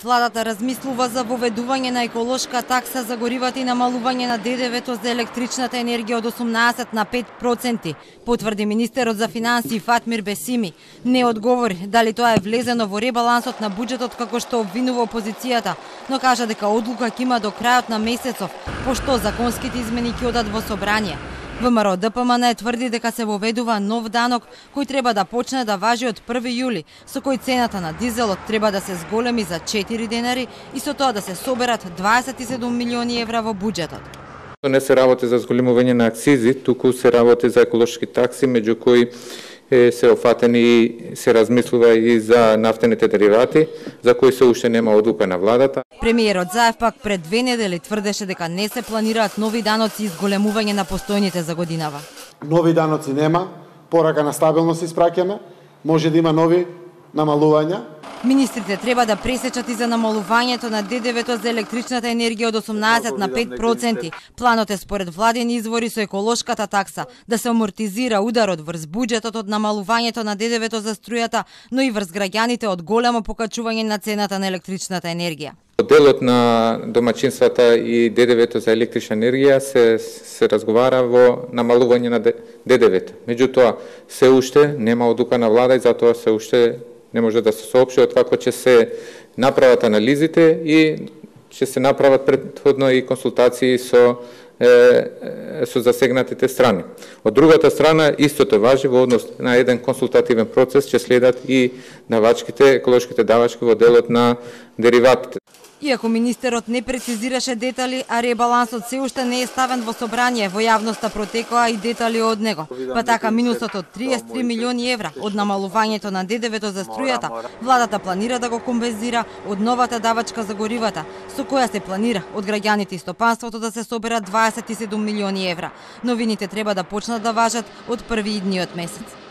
Владата размислува за воведување на еколошка такса за горивата и намалување на ДДВ-то за електричната енергија од 18 на 5%, потврди министерот за финансии Фатмир Бесими. Не одговори дали тоа е влезено во ребалансот на буџетот како што обвинува опозицијата, но кажа дека одлука ќе има до крајот на месецов, пошто законските измени ќе одат во собрание. ВМРО ДПМН тврди дека се воведува нов данок кој треба да почне да важи од 1 јули, со кој цената на дизелот треба да се зголеми за 4 денари и со тоа да се соберат 27 милиони евра во буџетот. Не се работи за зголемување на акцизи, туку се работи за еколошки такси, меѓу кои се офатени и се размислува и за нафтените деривати, за кои се уште нема одлука на владата. Премиерот Заев пак пред 2 недели тврдеше дека не се планираат нови даноци и зголемување на постојните за годинава. Нови даноци нема, порака на стабилност испраќаме, може да има нови намалувања. Министрите треба да пресечат и за намалувањето на ДДВ-то за електричната енергија од 18 на 5%. Планот е според владени извори со еколошката такса да се амортизира ударот врз буџетот од намалувањето на ДДВ-то за струјата, но и врз граѓаните од големо покачување на цената на електричната енергија. Делот на домаќинствата и ДДВ-то за електрична енергија се разговара во намалување на ДДВ-то. Меѓутоа, се уште нема одлука на влада и затоа се уште не може да се соопшти откако ќе се направат анализите и ќе се направат претходно и консултации со засегнатите страни. Од другата страна, истото важи во однос на еден консултативен процес, ќе следат и еколошките давачки во делот на дериватите. Иако министерот не прецизираше детали, а ребалансот се уште не е ставен во собрание, во јавноста протекоа и детали од него. Па така минусот од 33 милиони евра од намалувањето на ДДВ-то за струјата, владата планира да го компензира од новата давачка за горивата, со која се планира од граѓаните и стопанството да се соберат 27 милиони евра. Новините треба да почнат да важат од први идниот месец.